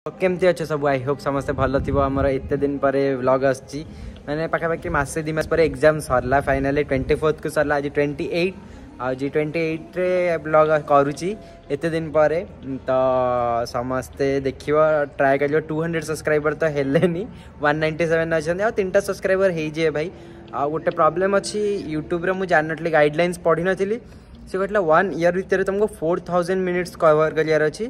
କେମିତି ଅଛ ସବୁ? I Hope ସମସ୍ତେ ଭଲ ଥିବ। ଆମର ଏତେ ଦିନ ପରେ ବ୍ଲଗ୍ ଆସୁଛି, ମାନେ ପାଖାପାଖି ମାସେ 2 ମାସ ପରେ। ଏକ୍ଜାମ୍ ସରିଲା ଫାଇନାଲି, 24କୁ ସରିଲା, ଆଜି 28। ଆଉ ଜି 28ରେ ବ୍ଲଗ୍ କରୁଛି ଏତେ ଦିନ ପରେ। ତ ସମସ୍ତେ ଦେଖିବ, ଟ୍ରାଏ କରିବ। 200 ସବସ୍କ୍ରାଇବର ତ ହେଲେନି, 197 ଅଛନ୍ତି, ଆଉ 3ଟା ସବସ୍କ୍ରାଇବର ହେଇଯିବେ ଭାଇ। ଆଉ ଗୋଟେ ପ୍ରୋବ୍ଲେମ୍ ଅଛି ୟୁଟ୍ୟୁବରେ, ମୁଁ ଜାଣିନଥିଲି, ଗାଇଡ଼ଲାଇନ୍ସ ପଢ଼ିନଥିଲି। ସେ କହିଥିଲା ୱାନ୍ ଇୟର୍ ଭିତରେ ତୁମକୁ 4000 ମିନିଟ୍ସ କଭର୍ କରିବାର ଅଛି,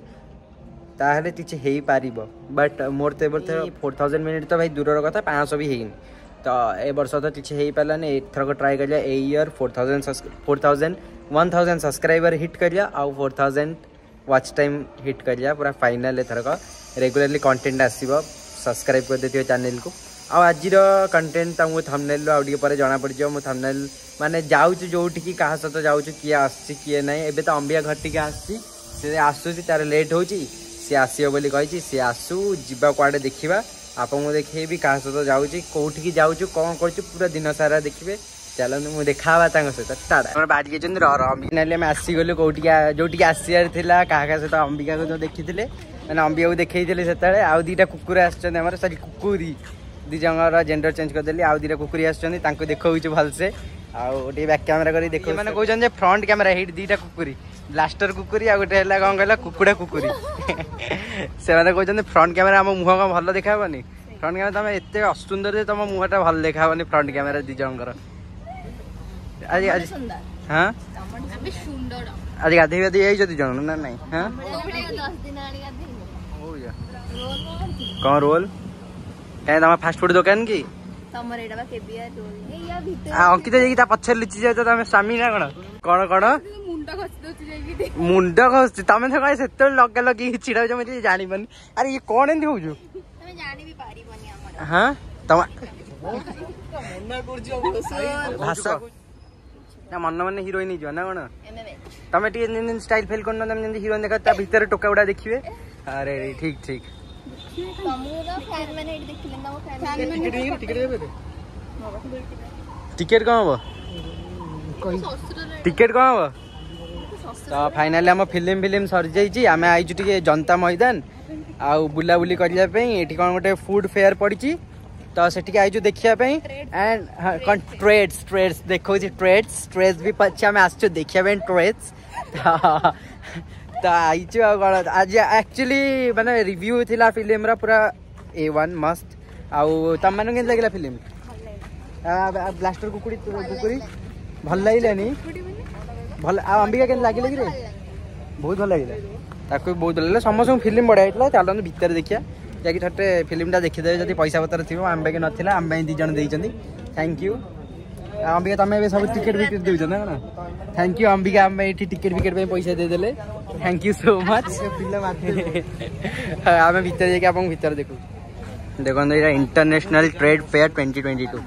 ତାହେଲେ କିଛି ହେଇପାରିବ। ବଟ୍ ମୋର ତ ଏ ବର୍ଷ 4000 ମିନିଟ୍ ତ ଭାଇ ଦୂରର କଥା, 500 ବି ହେଇନି। ତ ଏ ବର୍ଷ ତ କିଛି ହେଇପାରିଲାନି। ଏଥରକ ଟ୍ରାଏ କରିବା, ଏଇ ଇୟର୍ 4000, 4000, 1000 ସବସ୍କ୍ରାଇବର ହିଟ୍ କରିବା ଆଉ 4000 ୱାଚ୍ ଟାଇମ୍ ହିଟ୍ କରିବା ପୁରା ଫାଇନାଲ୍। ଏଥରକ ରେଗୁଲାରଲି କଣ୍ଟେଣ୍ଟ ଆସିବ, ସବସ୍କ୍ରାଇବ୍ କରିଦେଇଥିବ ଚ୍ୟାନେଲକୁ। ଆଉ ଆଜିର କଣ୍ଟେଣ୍ଟ ତମକୁ ଥମ୍ବନେଲ୍ରୁ ଆଉ ଟିକେ ପରେ ଜଣାପଡ଼ିଯିବ। ମୁଁ ଥମ୍ବନେଲ୍ ମାନେ ଯାଉଛୁ ଯେଉଁଠିକି, କାହା ସହିତ ଯାଉଛୁ, କିଏ ଆସୁଛି କିଏ ନାହିଁ। ଏବେ ତ ଅମ୍ବିକା ଘର ଟିକେ ଆସିଛି, ସେ ଆସୁଛି, ତାର ଲେଟ୍ ହେଉଛି, ସିଏ ଆସିବ ବୋଲି କହିଛି। ସିଏ ଆସୁ, ଯିବା କୁଆଡ଼େ ଦେଖିବା, ଆପଣଙ୍କୁ ଦେଖେଇବି କାହା ସହିତ ଯାଉଛି, କୋଉଠିକି ଯାଉଛୁ, କ'ଣ କରୁଛୁ, ପୁରା ଦିନ ସାରା ଦେଖିବେ। ଚାଲନ୍ତୁ, ମୁଁ ଦେଖା ହବା ତାଙ୍କ ସହିତ। ଟାଟା। ଆମର ବାହାରି ଯାଇଛନ୍ତି। ର ର, ଫାଇନାଲି ଆମେ ଆସିଗଲୁ କୋଉଠିକି, ଯୋଉଠିକି ଆସିବାର ଥିଲା। କାହା କାହା ସହିତ? ଅମ୍ବିକାକୁ ତ ଦେଖିଥିଲେ, ମାନେ ଅମ୍ବିକାକୁ ଦେଖେଇଥିଲେ ସେତେବେଳେ। ଆଉ 2ଟା କୁକୁର ଆସିଛନ୍ତି ଆମର, ସରି କୁକୁରି, ଦି ଜଣଙ୍କର ଜେଣ୍ଡର ଚେଞ୍ଜ କରିଦେଲି। ଆଉ 2ଟା କୁକୁରି ଆସିଛନ୍ତି, ତାଙ୍କୁ ଦେଖଉଛି ଭଲସେ ଆଉ ଟିକେ ବ୍ୟାକ୍ କ୍ୟାମେରା କରି ଦେଖ। ମାନେ କହୁଛନ୍ତି ଯେ ଫ୍ରଣ୍ଟ କ୍ୟାମେରା। ହେଇଠି 2ଟା କୁକୁରି, ବ୍ଲାଷ୍ଟର କୁକୁରି ଆଉ ଗୋଟେ ହେଲା କ'ଣ କହିଲା, କୁକୁଡ଼ା କୁକୁରି। ସେମାନେ କହୁଛନ୍ତି ଫ୍ରଣ୍ଟ କ୍ୟାମେରା ଆମ ମୁହଁ କ'ଣ ଭଲ ଦେଖାହବନି? ଫ୍ରଣ୍ଟ କ୍ୟାମେରା ତମେ ଏତେ ଅସୁନ୍ଦର ଯେ ତମ ମୁହଁଟା ଭଲ ଦେଖାହବନି ଫ୍ରଣ୍ଟ କ୍ୟାମେରା। ଦି ଜଣଙ୍କର ଆଜି ଆଜି ହଁ, ଆଜି ଗାଧେଇ ଗାଧେଇ ଯାଇଛ ଦି ଜଣ ନା ନାଇଁ? ହଁ, କ'ଣ ରୋଲ କାଇଁ? ତମ ଫାଷ୍ଟଫୁଡ ଦୋକାନ କି? ଅଙ୍କିତା ଯାଇକି ତା ପଛରେ ଲୁଚି ଯାଉଛ। ତମେ ସ୍ୱାମୀ ନା କଣ? କଣ କଣ ମୁଣ୍ଡ ଘଷୁଛି ତମେ ତ କଣ ସେତେବେଳେ ଲଗା ଲଗେଇକି ଛିଡା ହଉଛ, ମୁଁ ଜାଣିପାରୁନି। ଆରେ ଇଏ କଣ ଏମିତି ହଉଛୁ? ହଁ, ତମ ଭାଷା ନା ମନ ମନେ ହିରୋଇନ ହେଇଯିବ ନା କଣ? ତମେ ଟିକେ ଷ୍ଟାଇଲ ଫେଲ କରୁନ, ତମେ ଯେମିତି ହିରୋଇନ ଦେଖ, ତା ଭିତରେ ଟୋକା ଗୁଡା ଦେଖିବେ। ଆରେ ଠିକ ଠିକ। ଟିକେଟ କଣ ହବ? ଟିକେଟ କଣ ହବ? ତ ଫାଇନାଲି ଆମ ଫିଲ୍ମ ଫିଲ୍ମ ସରିଯାଇଛି। ଆମେ ଆଇଛୁ ଟିକେ ଜନତା ମଇଦାନ ଆଉ ବୁଲାବୁଲି କରିବା ପାଇଁ। ଏଠି କ'ଣ ଗୋଟେ ଫୁଡ ଫେୟାର ପଡ଼ିଛି, ତ ସେଠିକି ଆଇଛୁ ଦେଖିବା ପାଇଁ। ଆଣ୍ଡ କ'ଣ ଟ୍ରେଡ୍ସ ଟ୍ରେଡ୍ସ ଦେଖାଉଛି, ଟ୍ରେଡ୍ସ ଟ୍ରେଡ୍ସ ବି ଅଛି। ଆମେ ଆସିଛୁ ଦେଖିବା ପାଇଁ ଟ୍ରେଡ୍ସ, ତ ଆଇଛୁ। ଆଉ କ'ଣ ଆଜି ଆକ୍ଚୁଆଲି ମାନେ ରିଭ୍ୟୁ ଥିଲା ଫିଲ୍ମର ପୁରା ଏ ୱାନ୍ ମସ୍ତ। ଆଉ ତମମାନଙ୍କୁ କେମିତି ଲାଗିଲା ଫିଲ୍ମ? ବ୍ଲାଷ୍ଟର କୁକୁଡ଼ି କୁକୁରି ଭଲ ଲାଗିଲାନି? ଭଲ। ଆଉ ଅମ୍ବିକା କେମିତି ଲାଗିଲା କି ରେ? ବହୁତ ଭଲ ଲାଗିଲା, ତାକୁ ବି ବହୁତ ଭଲ ଲାଗିଲା। ସମସ୍ତଙ୍କୁ ଫିଲ୍ମ ବଢ଼ିଆ ହେଇଥିଲା। ଚାଲନ୍ତୁ ଭିତରେ ଦେଖିବା, ଯାଇକି ଥରେ ଫିଲ୍ମଟା ଦେଖିଦେବେ ଯଦି ପଇସା ପତ୍ର ଥିବ। ଆମ ପାଖେ ନଥିଲା, ଆମ ପାଇଁ 2 ଜଣ ଦେଇଛନ୍ତି, thank you. Ambika, ତମେ ଏବେ ସବୁ ଟିକେଟ୍ ଫିକେଟ୍ ଦେଉଛ ନା କ'ଣ? Thank you Ambika, ଆମ ପାଇଁ ଏଠି ଟିକେଟ୍ ଫିକେଟ୍ ପାଇଁ ପଇସା ଦେଇଦେଲେ, thank you so much. ଆମେ ଭିତରେ ଯାଇକି ଆପଣଙ୍କୁ ଭିତରେ ଦେଖୁ। ଦେଖନ୍ତୁ, ଏଇଟା ଇଣ୍ଟରନ୍ୟାସନାଲ ଟ୍ରେଡ୍ ଫେୟାର 2022।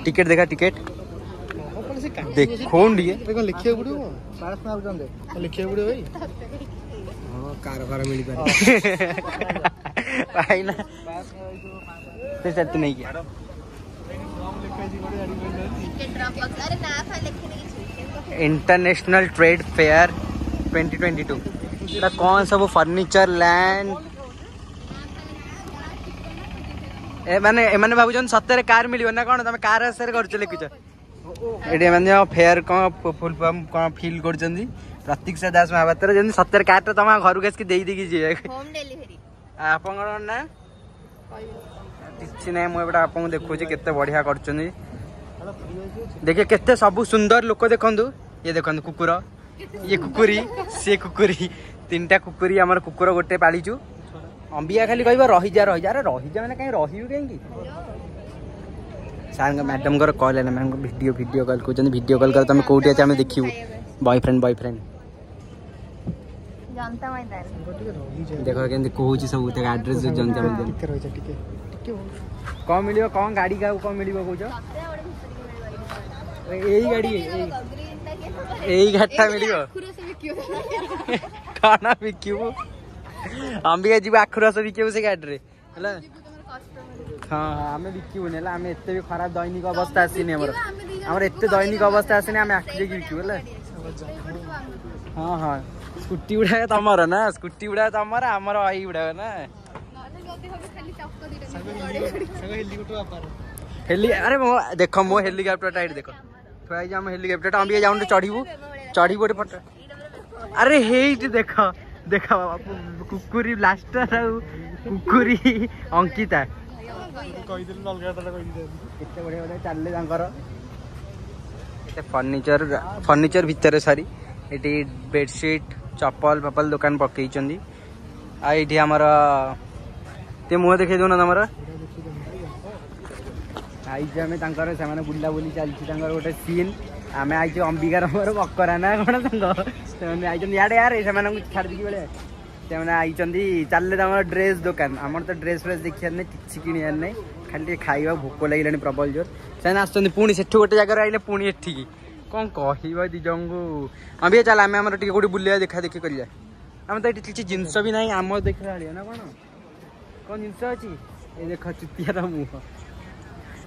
ଟିକେଟ୍ ଦେଖା, ଟିକେଟ୍ ଦେଖଉନ ଟିକେ। ଲେଖିବାକୁ ପଡିବ, ଲେଖିବାକୁ ପଡିବ ଭାଇ। ହଁ, କାର ଫାର ମିଳିପାରେ ଭାଇନା ସେ ତୁ ନେଇକି। ଇଣ୍ଟରନ୍ୟାସନାଲ ଟ୍ରେଡ୍ ଫେୟାର 2022, ଏଟା କ'ଣ ସବୁ ଫର୍ଣ୍ଣିଚର ଲ୍ୟାଣ୍ଡ। ଏ ମାନେ ଏମାନେ ଭାବୁଛନ୍ତି ସତରେ କାର ମିଳିବ ନା କ'ଣ? ତମେ କାର ଆଶାରେ କରୁଛ, ଲେଖୁଛ ଏଠି। ଏମାନେ ଫେୟାର କ'ଣ ଫୁଲ ଫର୍ମ କ'ଣ ଫିଲ୍ କରୁଛନ୍ତି। ପ୍ରତୀକ୍ଷା ଦାସ ମହାପାତ୍ର, ଯେମିତି ସତରେ କାରଟା ତମ ଘରକୁ ଆସିକି ଦେଇ ଦେଇକି ଯିବେ। ଆପଣଙ୍କର ନା କିଛି ନାହିଁ। ମୁଁ ଏପଟେ ଆପଣଙ୍କୁ ଦେଖୁଛି କେତେ ବଢିଆ କରୁଛନ୍ତି। ଦେଖିବେ କେତେ ସବୁ ସୁନ୍ଦର ଲୋକ। ଦେଖନ୍ତୁ, ଇଏ ଦେଖନ୍ତୁ କୁକୁର, ଇଏ କୁକୁରି, ସିଏ କୁକୁରି, 3ଟା କୁକୁରି। ଆମର କୁକୁର ଗୋଟେ ପାଳିଛୁ। ଅମ୍ବିକା ଖାଲି କହିବ ରହିଯା ରହିଯା। ଆରେ ରହିଯା ମାନେ କାହିଁ ରହିବୁ କାହିଁକି? ସାର୍ଙ୍କ ମ୍ୟାଡ଼ାମଙ୍କର କଲ୍ ହେଲା। ମ୍ୟାଡ଼ାମଙ୍କ ଭିଡ଼ିଓ କଲ୍ କହୁଛନ୍ତି, ଭିଡ଼ିଓ କଲ୍ କର, ତମେ କୋଉଠି ଅଛି ଆମେ ଦେଖିବୁ। ବୟଫ୍ରେଣ୍ଡ ବୟଫ୍ରେଣ୍ଡ ଦେଖ କେମିତି କହୁଛି ସବୁ, ତାଙ୍କ ଆଡ୍ରେସ୍ ଜନତା ମଇଦାନ। କ'ଣ ମିଳିବ? କ'ଣ ଗାଡ଼ି କାହାକୁ କ'ଣ ମିଳିବ କହୁଛ? ଏଇ ଗାଡ଼ି, ଏଇ ଗାଡ଼ିଟା ମିଳିବ। କ'ଣ ବିକିବୁ ଅମ୍ବିକା? ଯିବୁ ଆଖୁ ରସ ବିକିବୁ ସେ ଗାଡ଼ିରେ ହେଲା। ହଁ ହଁ, ଆମେ ବିକିବୁନି ହେଲା। ଆମେ ଏତେ ବି ଖରାପ ଦୈନିକ ଅବସ୍ଥା ଆସିନି ଆମର। ଆମର ଏତେ ଦୈନିକ ଅବସ୍ଥା ଆସିନି, ଆମେ ଆଖୁ ଯାଇକି ବିକିବୁ ହେଲା। ହଁ ହଁ, ସ୍କୁଟି ଗୁଡାକ ତମର ନା? ସ୍କୁଟି ଗୁଡାକ ତମର, ଆମର ଏଇ ଗୁଡାକ ନା? ହେଲି ଆରେ ମୋ ଦେଖ, ମୋ ହେଲିକପ୍ଟରଟା ଏଇଠି ଦେଖ ଥୁଆ ହେଇଛି। ଆମ ହେଲିକପ୍ଟରଟା ଆମେ ଯାଉନୁ, ଚଢିବୁ ଚଢିବୁ ଗୋଟେ ଫଟୋ। ଆରେ ହେଇଠି ଦେଖ ଦେଖ, କୁକୁରି ବ୍ଲାଷ୍ଟର ଆଉ କୁକୁରି ଅଙ୍କିତା କେତେ ବଢିଆ ବଢିଆ ଚାଲିଲେ ତାଙ୍କର। କେତେ ଫର୍ଣ୍ଣିଚର, ଫର୍ଣ୍ଣିଚର ଭିତରେ ସରି ଏଠି ବେଡସିଟ୍, ଚପଲ ଫପଲ ଦୋକାନ ପକେଇଛନ୍ତି। ଆଉ ଏଇଠି ଆମର ଟିକେ ମୁହଁ ଦେଖେଇ ଦଉନ ତମର। ଆଇଛୁ ଆମେ ତାଙ୍କର, ସେମାନେ ବୁଲାବୁଲି ଚାଲିଛି ତାଙ୍କର ଗୋଟେ ସିନ୍। ଆମେ ଆଇଛୁ ଅମ୍ବିକାର ମୋର ବକରା ନା କଣ ତାଙ୍କ, ସେମାନେ ଆଇଛନ୍ତି ଇଆଡ଼େ। ୟାରେ ସେମାନଙ୍କୁ ଛାଡ଼ିଦେଇକି ବେଳେ ସେମାନେ ଆଇଛନ୍ତି ଚାଲିଲେ ତାଙ୍କର ଡ୍ରେସ୍ ଦୋକାନ। ଆମର ତ ଡ୍ରେସ୍ ଫ୍ରେସ୍ ଦେଖିବାର ନାହିଁ, କିଛି କିଣିବାର ନାହିଁ, ଖାଲି ଟିକେ ଖାଇବା, ଭୋକ ଲାଗିଲାଣି ପ୍ରବଳ ଜୋର। ସେମାନେ ଆସୁଛନ୍ତି ପୁଣି ସେଠୁ ଗୋଟେ ଜାଗାରେ ଆଇଲେ ପୁଣି ଏଠିକି। କ'ଣ କହିବ ଦି ଜଣଙ୍କୁ? ଅମ୍ବିକା ଚାଲ, ଆମେ ଆମର ଟିକେ କୋଉଠି ବୁଲିବା, ଦେଖା ଦେଖି କରିବା। ଆମେ ତ ଏଠି କିଛି ଜିନିଷ ବି ନାହିଁ ଆମର ଦେଖିଲା ଭଳିଆ ନା କଣ କଣ ଜିନିଷ ଅଛି? ଏ ଦେଖ ଚୁତିଆର ମୁହଁ,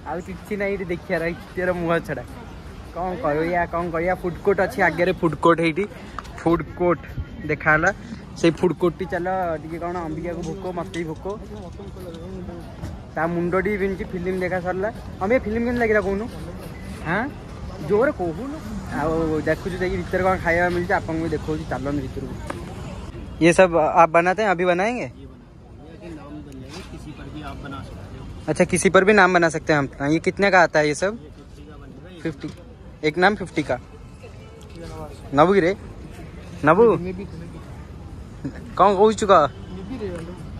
ଆଉ କିଛି ନାହିଁ ଏଠି ଦେଖିବାର ଚୁତିଆର ମୁହଁ ଛଡ଼ା। କ'ଣ କରିବା କ'ଣ କରିବା? ଫୁଡ୍ କୋର୍ଟ ଅଛି ଆଗରେ, ଫୁଡ୍ କୋର୍ଟ ହେଇଠି ଫୁଡ୍ କୋର୍ଟ ଦେଖାହେଲା। ସେଇ ଫୁଡ୍ କୋର୍ଟଟି ଚାଲ ଟିକେ, କ'ଣ ଅମ୍ବିକାକୁ ଭୋକ, ମତେ ବି ଭୋକ। ତା ମୁଣ୍ଡ ଟିକେ ବିନ୍ଧୁଛି। ଫିଲ୍ମ ଦେଖା ସରିଲା। ଅମ୍ବିକା, ଫିଲ୍ମ କେମିତି ଲାଗିଲା କହୁନୁ? ହଁ ଜୋରେ କହୁନୁ। ଆଉ ଦେଖୁଛୁ ଯାଇକି ଭିତରେ କ'ଣ ଖାଇବା ମିଳୁଛି, ଆପଣଙ୍କୁ ବି ଦେଖାଉଛି। ଚାଲନ୍ତୁ ଭିତରକୁ। ये सब आप बनाते हैं? अभी बनाएंगे? किसी पर भी आप बना सकते हो। अच्छा, किसी पर भी नाम बना सकते हैं हम। ये कितने का आता है ये सब? 50। एक नाम 50 का। नबू रे नबू କଣ କହୁଛୁ କହ?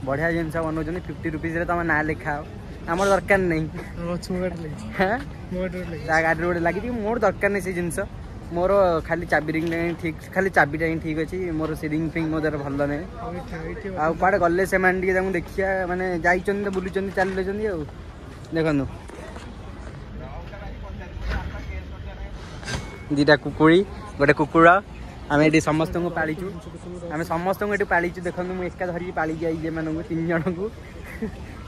ବଢିଆ ଜିନିଷ ବନଉଛନ୍ତି। 50 ରୁପିଜରେ ତମ ନାଁ ଲେଖା। ଆମର ଦରକାର ନାହିଁ। ତା ଗାଡ଼ିରେ ଗୋଟେ ଲାଗିଛି। ମୋର ଦରକାର ନାହିଁ ସେ ଜିନିଷ। ମୋର ଖାଲି ଚାବି ରିଙ୍ଗଟା ହିଁ ଠିକ୍, ଖାଲି ଚାବିଟା ହିଁ ଠିକ୍ ଅଛି ମୋର। ସେ ରିଙ୍ଗ ଫିଙ୍ଗ ମୋ ଦ୍ୱାରା ଭଲ ନାହିଁ। ଆଉ କୁଆଡ଼େ ଗଲେ ସେମାନେ ଟିକେ ତାଙ୍କୁ ଦେଖିବା, ମାନେ ଯାଇଛନ୍ତି ତ ବୁଲୁଛନ୍ତି ଚାଲିଛନ୍ତି। ଆଉ ଦେଖନ୍ତୁ ଦିଟା କୁକୁଡ଼ି, ଗୋଟେ କୁକୁର। ଆମେ ଏଠି ସମସ୍ତଙ୍କୁ ପାଳିଛୁ, ଆମେ ସମସ୍ତଙ୍କୁ ଏଠି ପାଳିଛୁ। ଦେଖନ୍ତୁ ମୁଁ ଏକା ଧରିକି ପାଳିକି ଆଇଛି ଏମାନଙ୍କୁ ତିନି ଜଣଙ୍କୁ।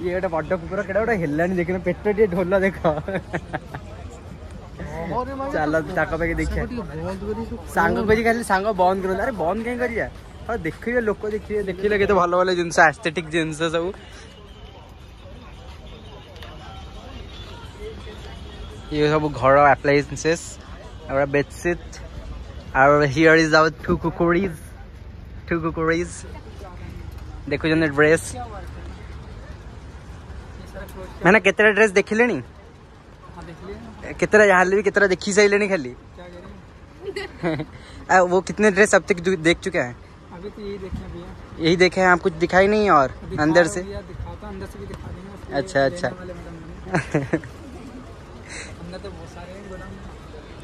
ଇଏ ଗୋଟେ ବଡ଼ କୁକୁର, କେଟା ଗୋଟେ ହେଲାଣି ଦେଖିନ, ପେଟ ଟିକେ ଢୋଲ ଦେଖ। ଚାଲ ତାଙ୍କ ପାଖେ ଦେଖିବା। ସାଙ୍ଗ କହୁଛି ଖାଲି ସାଙ୍ଗ ବନ୍ଦ କରନ୍ତୁ। ଆରେ ବନ୍ଦ କାହିଁ କରିବା? ହଁ ଦେଖିବେ ଲୋକ, ଦେଖିବେ, ଦେଖିଲେ କେତେ ଭଲ ଭଲ ଜିନିଷ, ଆସ୍ଥେଟିକ୍ ଜିନିଷ ସବୁ। ଇଏ ସବୁ ଘର ଆପ୍ଲାଏନ୍ସେସ୍ ଆଉ ବେଡସିଟ୍। ଆଉ here is our two କୁକୁରିଜ୍, two କୁକୁରିଜ୍। ଦେଖୁଛନ୍ତି ଡ୍ରେସ୍ ମାନେ କେତେଟା ଡ୍ରେସ୍ ଦେଖିଲେଣି? କେତେଟା ଯାହାହେଲେ ବି କେତେଟା ଦେଖି ସାରିଲେଣି ଖାଲି। वो कितने ड्रेस अब तक देख चुके हैं? अभी तो यही देखे हैं भैया। यही देखे हैं, आप कुछ दिखाई नहीं और अंदर से? दिखाता, अंदर से भी दिखा देंगे। अच्छा अच्छा। अंदर तो बहुत सारे हैं गोदाम।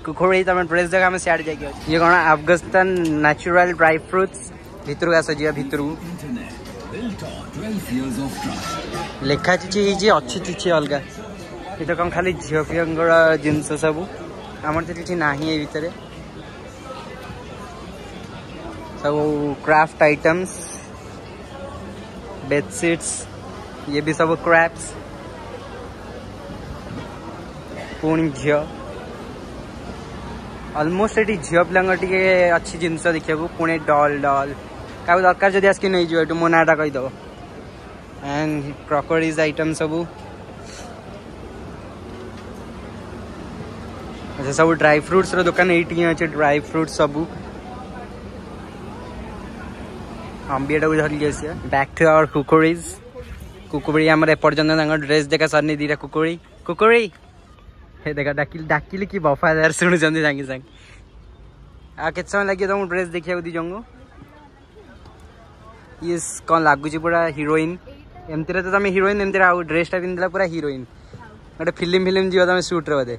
कुकुरी ତମେ ଡ୍ରେସ୍ ଦେଖ, ଆମେ ସିଆଡ଼େ ଯାଇକି ଅଛି। ଇଏ କ'ଣ ଆଫଗାନିସ୍ତାନ ନ୍ୟାଚୁରାଲ ଡ୍ରାଇ ଫ୍ରୁଟ୍ସ। ଭିତରକୁ ଆସ, ଯିବା ଭିତରକୁ। ଲେଖା କିଛି ହେଇଛି, ଅଛି କିଛି ଅଲଗା। ଏ ତ କ'ଣ ଖାଲି ଝିଅ ଫିଅଙ୍କର ଜିନିଷ ସବୁ, ଆମର ତ କିଛି ନାହିଁ ଏ ଭିତରେ। ସବୁ କ୍ରାଫ୍ଟ ଆଇଟମ୍ସ, ବେଡସିଟ୍ସ, ଇଏ ବି ସବୁ କ୍ରାଫ୍ଟ। ପୁଣି ଝିଅ, ଅଲମୋଷ୍ଟ ଏଠି ଝିଅ ପିଲାଙ୍କର ଟିକେ ଅଛି ଜିନିଷ ଦେଖିବାକୁ। ପୁଣି ଡଲ୍, ଡଲ୍ କାହାକୁ ଦରକାର ଯଦି ଆସିକି ନେଇଯିବ ଏଠୁ, ମୋ ନାଁଟା କହିଦେବ। ଆଣ୍ଡ କ୍ରକରିଜ୍ ଆଇଟମ୍ ସବୁ। ଆଚ୍ଛା, ସବୁ ଡ୍ରାଇ ଫ୍ରୁଟ୍ସର ଦୋକାନ ଏଇଠି ହିଁ ଅଛି, ଡ୍ରାଇ ଫ୍ରୁଟ୍ସ ସବୁ। ଅମ୍ବିଆଟାକୁ ଧରିକି ଆସିବା। ବ୍ୟାକ୍ ଟୁ ଆୱାର କୁକୁରିଜ୍। କୁକୁରି ଆମର ଏପର୍ଯ୍ୟନ୍ତ ତାଙ୍କ ଡ୍ରେସ୍ ଦେଖା ସରିନି। ଦିଟା କୁକୁରି, କୁକୁରି ହେ ଦେଖ, ଡାକିଲି ଡାକିଲି କି ବଫାଦାର ଶୁଣୁଛନ୍ତି ସାଙ୍ଗେ ସାଙ୍ଗେ। ଆଉ କେତେ ସମୟ ଲାଗିବ ତମକୁ ଡ୍ରେସ୍ ଦେଖିବାକୁ ଦି ଜଣଙ୍କୁ? ଇଏ କ'ଣ ଲାଗୁଛି ପୁରା ହିରୋଇନ୍। ଏମିତିରେ ତ ତମେ ହିରୋଇନ୍, ଏମିତିରେ ଆଉ ଡ୍ରେସ୍ଟା ପିନ୍ଧିଲା ପୁରା ହିରୋଇନ୍। ଗୋଟେ ଫିଲ୍ମ ଫିଲ୍ମ ଯିବ ତମେ ସୁଟ୍ରେ ବୋଧେ।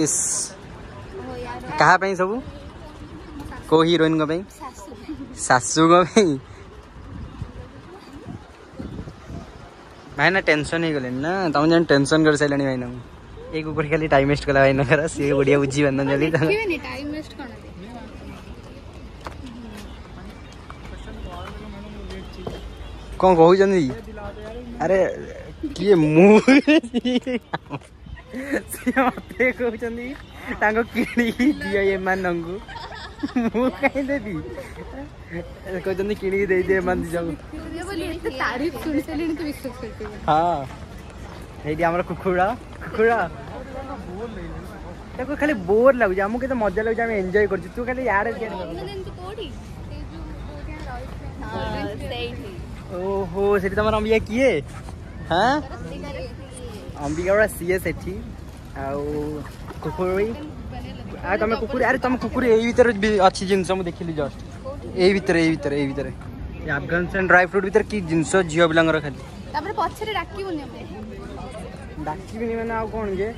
ଇସ୍, କାହା ପାଇଁ ସବୁ? କୋଉ ହିରୋଇନଙ୍କ ପାଇଁ? ଶାଶୁଙ୍କ ପାଇଁ। ଭାଇନା ଟେନସନ୍ ହେଇଗଲେଣି ନା? ତମେ ଜାଣି ଟେନସନ୍ କରିସାରିଲାଣି ଭାଇନାଙ୍କୁ। ଏଇ କୁକୁର ଖାଲି ଟାଇମ୍ ୱେଷ୍ଟ କଲା ଭାଇନାଙ୍କର, ସିଏ ଓଡ଼ିଆ ବୁଝିପାରୁନାହାନ୍ତି ଜଲ୍ଦି। ଟାଇମ୍ ୱେଷ୍ଟ କଣ? କଣ କହୁଛନ୍ତି? ଆରେ କିଏ ମୁଁ? ସିଏ ମତେ କହୁଛନ୍ତି ତାଙ୍କୁ କିଣିକି ଦିଅ ଏମାନଙ୍କୁ, ମୁଁ କାହିଁ ଦେବି? କହୁଛନ୍ତି କିଣିକି ଦେଇଦିଅ ଏମାନେ ଦି ଜଣଙ୍କୁ। ହଁ ଏଇଠି ଆମର କୁକୁର, କୁକୁର ତାକୁ ଖାଲି ବୋର୍ ଲାଗୁଛି, ଆମକୁ କେତେ ମଜା ଲାଗୁଛି, ଆମେ ଏନ୍ଜୟ କରୁଛୁ, ତୁ ଖାଲି ଇଆଡ଼େ। ଓହୋ ସେଠି ତମର ଅମ୍ବିକା କିଏ? ହଁ ଅମ୍ବିକା ଗୁଡ଼ା ସିଏ ସେଠି। ଆଉ କୁକୁରି, ଆଉ ତମେ କୁକୁରି, ଆରେ ତମ କୁକୁରି ଏଇ ଭିତରେ ଅଛି ଜିନିଷ, ମୁଁ ଦେଖିଲି ଜଷ୍ଟ ଏଇ ଭିତରେ, ଏଇ ଭିତରେ, ଏଇ ଭିତରେ ଆଫଗାନିସ୍ତାନ ଡ୍ରାଇ ଫ୍ରୁଟ୍ ଭିତରେ କି ଜିନିଷ ଝିଅ ପିଲାଙ୍କର ଖାଲି। ତାପରେ ପଛରେ ଡାକିବୁନି, ଡାକିବିନି ମାନେ ଆଉ କ'ଣ ଯେ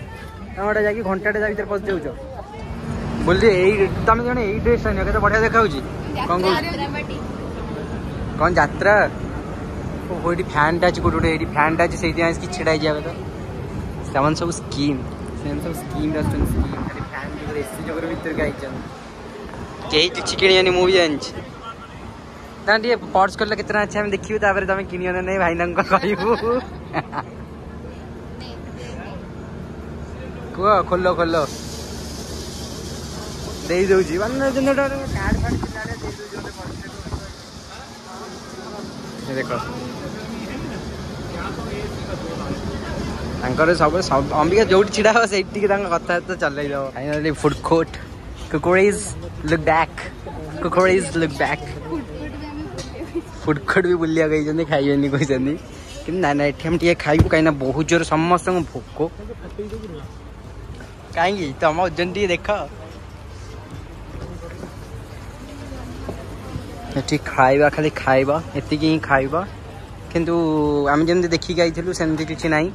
ତମେ ଗୋଟେ ଯାଇକି ଘଣ୍ଟାଟେ ତା ଭିତରେ ପଶି ଯାଉଛ ବୋଲି। ଏଇ ତମେ ଜଣେ ଏଇ ଡ୍ରେସ୍ ଆଣିବ, କେତେ ବଢିଆ ଦେଖାଯାଉଛି। କ'ଣ କହୁଛ? କ'ଣ ଯାତ୍ରା? ଓହୋ ଏଇଠି ଫ୍ୟାନ୍ଟା ଅଛି କୋଉଠି ଗୋଟେ, ଏଇଠି ଫ୍ୟାନ୍ଟା ଅଛି, ସେଇଠି ଆସିକି ଛିଡ଼ା ହେଇଯିବା କଥା। ସେମାନେ ସବୁ ସ୍କିମ୍, ସେମାନେ ସବୁ ସ୍କିମ୍ ଆସୁଛନ୍ତି, ସ୍କିମ୍ ଖାଲି ଫ୍ୟାନ୍ ଯୋଗୁଁ ଏସି ଯୋଗୁଁ ଭିତରକୁ ଆଇଛନ୍ତି। କେହି କିଛି କିଣିବନି, ମୁଁ ବି ଜାଣିଛି। ନା ଟିକେ ପର୍ସ କଲେ କେତେ ଟଙ୍କା ଅଛି ଆମେ ଦେଖିବୁ, ତାପରେ ତମେ କିଣିବ ନା ନାଇଁ ଭାଇନାଙ୍କୁ କହିବୁ। କୁହ, ଖୋଲ ଖୋଲ, ଦେଇ ଦଉଛି ମାନେ କାର୍ଡ ଫାର୍ଡ ଥିଲା ଦେଇ ଦଉଛି ମତେ। ଦେଖ ତାଙ୍କର ସବୁ ଅମ୍ବିକା ଯୋଉଠି ଛିଡ଼ା ହବ ସେଇଠି ଟିକେ ତାଙ୍କ କଥାବାର୍ତ୍ତା ଚଲେଇ ଦବ। Finally food court, cookeries look back, cookeries look back. Food court ବି ବୁଲିବାକୁ ହେଇଛନ୍ତି, ଖାଇବେନି କହୁଛନ୍ତି, କିନ୍ତୁ ନା ନା ଏଠି ଆମେ ଟିକେ ଖାଇବୁ, କାହିଁକିନା ବହୁତ ଜୋର ସମସ୍ତଙ୍କୁ ଭୋକ। କାହିଁକି ତମ ଓଜନ ଟିକେ ଦେଖ। ଏଠି ଖାଇବା ଖାଲି ଖାଇବା, ଏତିକି ହିଁ ଖାଇବା, କିନ୍ତୁ ଆମେ ଯେମିତି ଦେଖିକି ଆଇଥିଲୁ ସେମିତି କିଛି ନାହିଁ।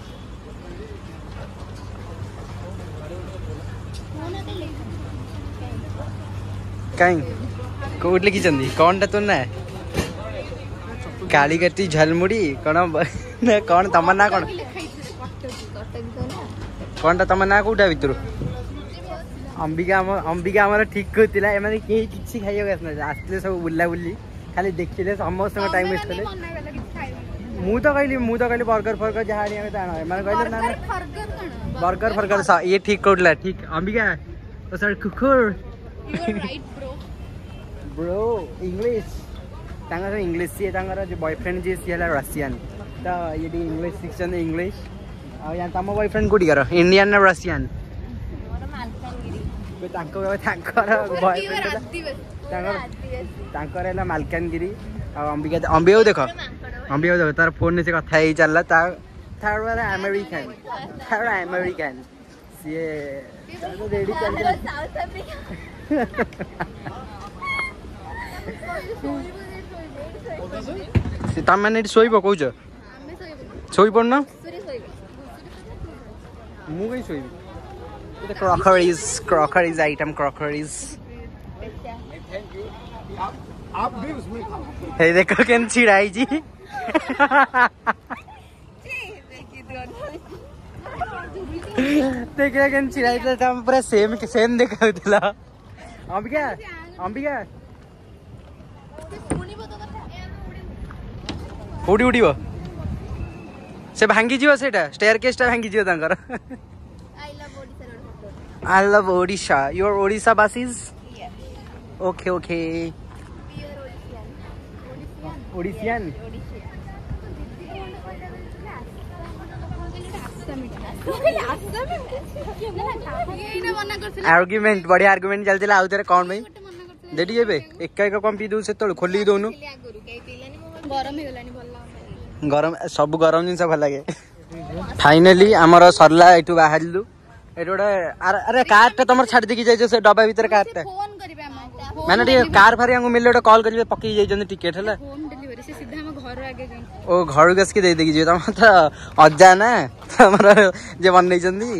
କାହିଁ କୋଉଠି ଲେଖିଛନ୍ତି କ'ଣଟା ତୋ ନା? କାଳିକାଟି ଝାଲମୁଢ଼ି କ'ଣ ନା କ'ଣ ତମ ନାଁ କ'ଣ? କ'ଣଟା ତମ ନାଁ କୋଉଟା ଭିତରୁ? ଅମ୍ବିକା ଆମ ଅମ୍ବିକା ଆମର ଠିକ୍ କହୁଥିଲା, ଏମାନେ କେହି କିଛି ଖାଇବାକୁ ଆସିନାହାନ୍ତି, ଆସିଥିଲେ ସବୁ ବୁଲାବୁଲି ଖାଲି ଦେଖିଲେ, ସମସ୍ତଙ୍କ ଟାଇମ୍ ୱେଷ୍ଟ କଲେ। ମୁଁ ତ କହିଲି, ମୁଁ ତ କହିଲି ବର୍ଗର ଫର୍ଗର ଯାହା ଆଣିବା କଥା ଆଣ, ଏମାନେ କହିଲେ ନା ନା ବର୍ଗର ଫର୍ଗର। ଇଏ ଠିକ୍ କହୁଥିଲା, ଠିକ୍ ଅମ୍ବିକା। ସରି କୁକୁର ବ୍ରୋ, ଇଂଲିଶ ତାଙ୍କର ଇଂଲିଶ, ସିଏ ତାଙ୍କର ଯେଉଁ ବୟଫ୍ରେଣ୍ଡ ଯିଏ ସିଏ ହେଲା ରସିଆନ, ତ ଇଏ ଟିକେ ଇଂଲିଶ ଶିଖିଛନ୍ତି ଇଂଲିଶ। ଆଉ ତମ ବୟଫ୍ରେଣ୍ଡ କୋଉଠିକାର, ଇଣ୍ଡିଆନ ନା ରସିଆନ? ତାଙ୍କ ତାଙ୍କର ବୟଫ୍ରେଣ୍ଡ ତାଙ୍କର ତାଙ୍କର ହେଲା ମାଲକାନଗିରି। ଆଉ ଅମ୍ବିକା, ଅମ୍ବିକାକୁ ଦେଖ, ଅମ୍ବିକାକୁ ଦେଖ, ତାର ଫୋନରେ ସେ କଥା ହେଇ ଚାଲିଲା। ତା ତାର ହେଲା ଆମେରିକାନ, ତାର ଆମେରିକାନ ସିଏ ରେଡ଼ି ଚାଲିଥିଲା। ତମେ ଏଠି ଶୋଇବ କହୁଛ? ଶୋଇପଡୁନ, ମୁଁ କାହିଁ ଶୋଇବି? Crockeries, crockeries item, crockeries. ହେଇ ଦେଖ କେମିତି ଛିଡ଼ା ହେଇଛି, ଦେଖିଲା କେମିତି ଛିଡ଼ା ହେଇଥିଲା, ତମେ ପୁରା ସେମ୍ ସେମ୍ ଦେଖାଉଥିଲ। ଅମ୍ବିକା, ଅମ୍ବିକା କୋଉଠି ଉଠିବ? ସେ ଭାଙ୍ଗିଯିବ, ସେଇଟା ଷ୍ଟେୟାର କେସ୍ଟା ଭାଙ୍ଗିଯିବ ତାଙ୍କର। I love Odisha. You are Odisha basis? Okay, okay. Odishian? Argument, ବଢିଆ ଆର୍ଗୁମେଣ୍ଟ ଚାଲିଥିଲା ଆଉ ଥରେ କ'ଣ ପାଇଁ ଦେଠି ଏବେ ଏକା ଏକା କ'ଣ ପିଇ ଦଉଛୁ? ସେତେବେଳୁ ଖୋଲିକି ଦଉନୁ। ଗରମ, ସବୁ ଗରମ ଜିନିଷ ଭଲ ଲାଗେ। ଫାଇନାଲି ଆମର ସରିଲା, ଏଠୁ ବାହାରିଲୁ। ଏଠି ଗୋଟେ ଆରେ କାରଟା ତମର ଛାଡି ଦେଇକି ଯାଇଛ ସେ ଡବା ଭିତରେ କାରଟା, ମାନେ ଟିକେ କାର ଫାର ଆମକୁ ମିଳିଲେ ଗୋଟେ କଲ୍ କରିବେ, ପକେଇ ଯାଇଛନ୍ତି ଟିକେଟ ହେଲା। ଓ ଘରକୁ ଆସିକି ଦେଇ ଦେଇକି ଯିବେ। ତମର ତ ଅଜା ନା ତମର ଯିଏ ବନେଇଛନ୍ତି?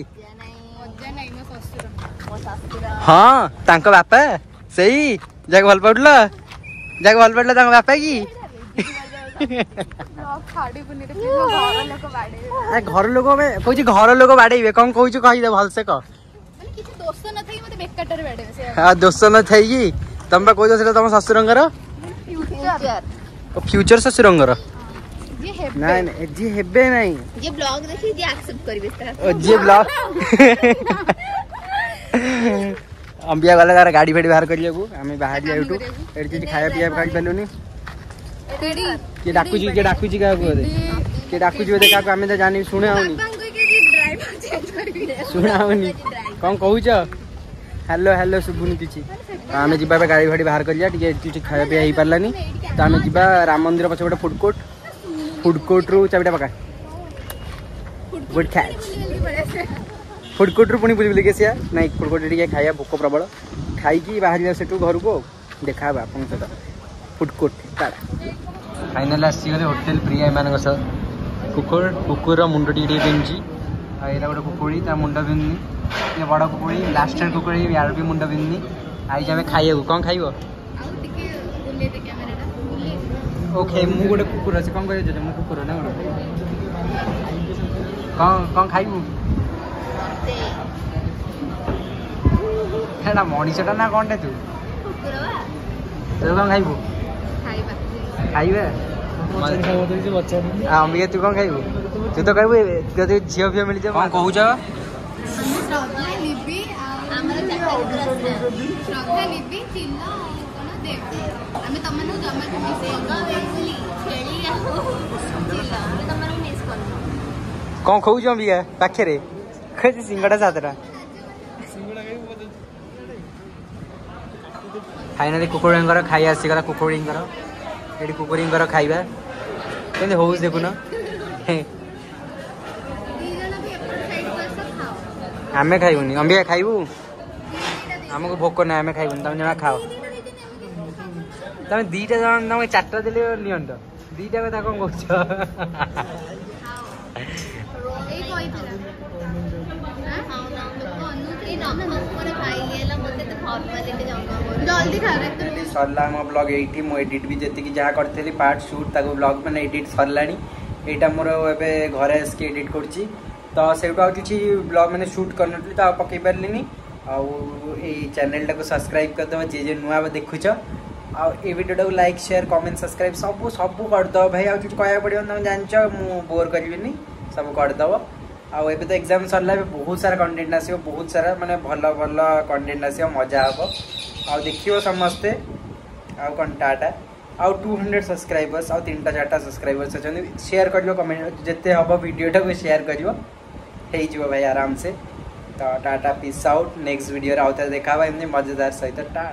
ହଁ ତାଙ୍କ ବାପା ସେଇ ଯାହାକୁ ଭଲ ପାଉଥିଲ, ଯାହାକୁ ଭଲ ପାଉଥିଲ ତାଙ୍କ ବାପା କି? ଘର ଲୋକ କହୁଛି, ଘର ଲୋକ ବାଡେଇବେ। କଣ କହୁଛୁ କହିଦେ ଭଲସେ କହ। ଦୋଷ ନଥାଇକି ତମେ ବା କହୁଛ ସେଟା ତମ ଶ୍ୱଶୁରଙ୍କର, ଫ୍ୟୁଚର ଶ୍ୱଶୁରଙ୍କର। ନାଇଁ ନାଇଁ, ଯିଏ ହେବେ ନାଇଁ, ଯିଏ ବ୍ଲଗ ଦେଖି ଯିଏ ଆକ୍ସେପ୍ଟ କରିବେ। ଯିଏ ବ୍ଲଗ। ଅମ୍ବିଆ ଗଲା ତାର ଗାଡ଼ି ଫାଡ଼ି ବାହାର କରିବାକୁ, ଆମେ ବାହାରିବା ଏଇଠୁ। ଏଠି କିଛି ଖାଇବା ପିଇବା ଖାଇପାରିଲୁନି। କିଏ ଡାକୁଛି? କିଏ ଡାକୁଛି କାହାକୁ? ବୋଧେ କିଏ ଡାକୁଛି ବୋଧେ କାହାକୁ, ଆମେ ତ ଜାଣି ଶୁଣା ହଉନି, ଶୁଣା ହଉନି। କଣ କହୁଛ? ହ୍ୟାଲୋ ହ୍ୟାଲୋ, ଶୁଭୁନି କିଛି। ଆମେ ଯିବା ଏବେ ଗାଡ଼ି ଫାଡ଼ି ବାହାର କରିବା। ଟିକେ କିଛି ଖାଇବା ପିଇବା ହେଇପାରିଲାନି ତ ଆମେ ଯିବା ରାମ ମନ୍ଦିର ପଛ ଗୋଟେ ଫୁଡ୍ କୋର୍ଟ। ଫୁଡ୍ କୋର୍ଟରୁ ଚାବିଟା ପକା, ଗୁଡ୍ କ୍ୟାଚ୍। ଫୁଡ୍ କୋର୍ଟରୁ ପୁଣି ବୁଲି ବୁଲିକି ଆସିବା। ନାଇଁ, ଫୁଡ୍ କୋର୍ଟରେ ଟିକେ ଖାଇବା, ଭୋକ ପ୍ରବଳ। ଖାଇକି ବାହାରିବା ସେଠୁ ଘରକୁ, ଆଉ ଦେଖା ହବା ଆପଣଙ୍କ ସହିତ ଫୁଡ୍ କୋର୍ଟ। ଟାଟା। ଫାଇନାଲ୍ ଆସିଗଲେ ହୋଟେଲ ପ୍ରିୟା ଏମାନଙ୍କ ସହ। କୁକୁର, କୁକୁରର ମୁଣ୍ଡ ଟିକେ ଟିକେ ବିନ୍ଧୁଛି। ଆଉ ଏଇଟା ଗୋଟେ କୁକୁଡ଼ି, ତା ମୁଣ୍ଡ ବିନ୍ଧୁନି। ଇଏ ବଡ଼ କୁକୁଡ଼ି, ଲାଷ୍ଟ କୁକୁଡ଼ି, ୟାର ବି ମୁଣ୍ଡ ବିନ୍ଧୁନି। ଆଇଛି ଆମେ ଖାଇବାକୁ। କ'ଣ ଖାଇବ? ଓକେ, ମୁଁ ଗୋଟେ କୁକୁର ଅଛି, କ'ଣ କହିବ? ମୁଁ କୁକୁର ନା କ'ଣ? କ'ଣ କ'ଣ ଖାଇବୁ? ଏଟା ମଣିଷଟା ନା କ'ଣଟା? ତୁ ତୁ କ'ଣ ଖାଇବୁ? ଖାଇବା ଅମ୍ବିକା, ତୁ କ'ଣ ଖାଇବୁ? ତୁ ତ ଖାଇବୁ ଯଦି ଝିଅ ଫିଅ ମିଳିଯିବ। କ'ଣ କହୁଛ? ଶ୍ରଦ୍ଧା, ଲିବି, ଚିଲ, କଣ ଦେବ, ଆମେ ତମମାନଙ୍କୁ ଜମା ଛେଳି ଆଉ ଚିଲ, ଆମେ ତମମାନଙ୍କୁ ମିସ୍ କରୁନୁ। କ'ଣ ଖାଉଛ ଅମ୍ବିକା? ପାଖରେ ଖାଉଛି ସିଙ୍ଗଡ଼ା ସାତଟା। ଫାଇନାଲି କୁକୁଡ଼ାଙ୍କର ଖାଇବା ଆସିଗଲା। କୁକୁଡ଼ିଙ୍କର ଏଠି, କୁକୁଡ଼ିଙ୍କର ଖାଇବା କେମିତି ହଉଛି ଦେଖୁନ। ଆମେ ଖାଇବୁନି। ଅମ୍ବିକା ଖାଇବୁ? ଆମକୁ ଭୋକ ନାହିଁ, ଆମେ ଖାଇବୁନି, ତମେ ଜମା ଖାଅ। ତମେ ଦିଟା ଜଣ, ତମେ ଚାରିଟା ଦେଲେ ନିଅନ୍ତ, ଦିଟା କଥା କଣ କହୁଛ? ଏଇ କହିଥିଲା ଜଲ୍ଦି ଖାଅ। ସରିଲା ଆମ ବ୍ଲଗ୍ ଏଇଠି। ମୁଁ ଏଡ଼ିଟ୍ ବି ଯେତିକି ଯାହା କରିଥିଲି ପାର୍ଟ ସୁଟ୍, ତାକୁ ବ୍ଲଗ୍ ମାନେ ଏଡ଼ିଟ୍ ସରିଲାଣି। ଏଇଟା ମୋର ଏବେ ଘରେ ଆସିକି ଏଡ଼ିଟ୍ କରୁଛି। ତ ସେଇଠୁ ଆଉ କିଛି ବ୍ଲଗ୍ ମାନେ ସୁଟ୍ କରିନଥିଲି, ତ ଆଉ ପକେଇ ପାରିଲିନି। ଆଉ ଏଇ ଚ୍ୟାନେଲଟାକୁ ସବସ୍କ୍ରାଇବ୍ କରିଦେବ ଯିଏ ଯିଏ ନୂଆ ଦେଖୁଛ, ଆଉ ଏଇ ଭିଡ଼ିଓଟାକୁ ଲାଇକ୍, ସେୟାର, କମେଣ୍ଟ, ସବସ୍କ୍ରାଇବ୍ ସବୁ ସବୁ କରିଦେବ ଭାଇ। ଆଉ କିଛି କହିବାକୁ ପଡ଼ିବନି, ତମେ ଜାଣିଛ, ମୁଁ ବୋର୍ କରିବିନି, ସବୁ କରିଦେବ। ଆଉ ଏବେ ତ ଏକ୍ଜାମ୍ ସରିଲା, ଏବେ ବହୁତ ସାରା କଣ୍ଟେଣ୍ଟ ଆସିବ, ବହୁତ ସାରା ମାନେ ଭଲ ଭଲ କଣ୍ଟେଣ୍ଟ ଆସିବ, ମଜା ହେବ ଆଉ ଦେଖିବ ସମସ୍ତେ। ଆଉ କ'ଣ, ଟାଟା। ଆଉ 200 ସବସ୍କ୍ରାଇବର୍ସ, ଆଉ ତିନିଟା ଚାରିଟା ସବସ୍କ୍ରାଇବର୍ସ ଅଛନ୍ତି। ସେୟାର କରିବ, କମେଣ୍ଟ ଯେତେ ହେବ ଭିଡ଼ିଓଟାକୁ ସେୟାର କରିବ, ହେଇଯିବ ଭାଇ ଆରାମସେ। ତ ଟାଟା, ପିସ୍ ଆଉଟ୍। ନେକ୍ସଟ ଭିଡ଼ିଓରେ ଆଉ ଥରେ ଦେଖା ହେବା ଏମିତି ମଜାଦାର ସହିତ। ଟା।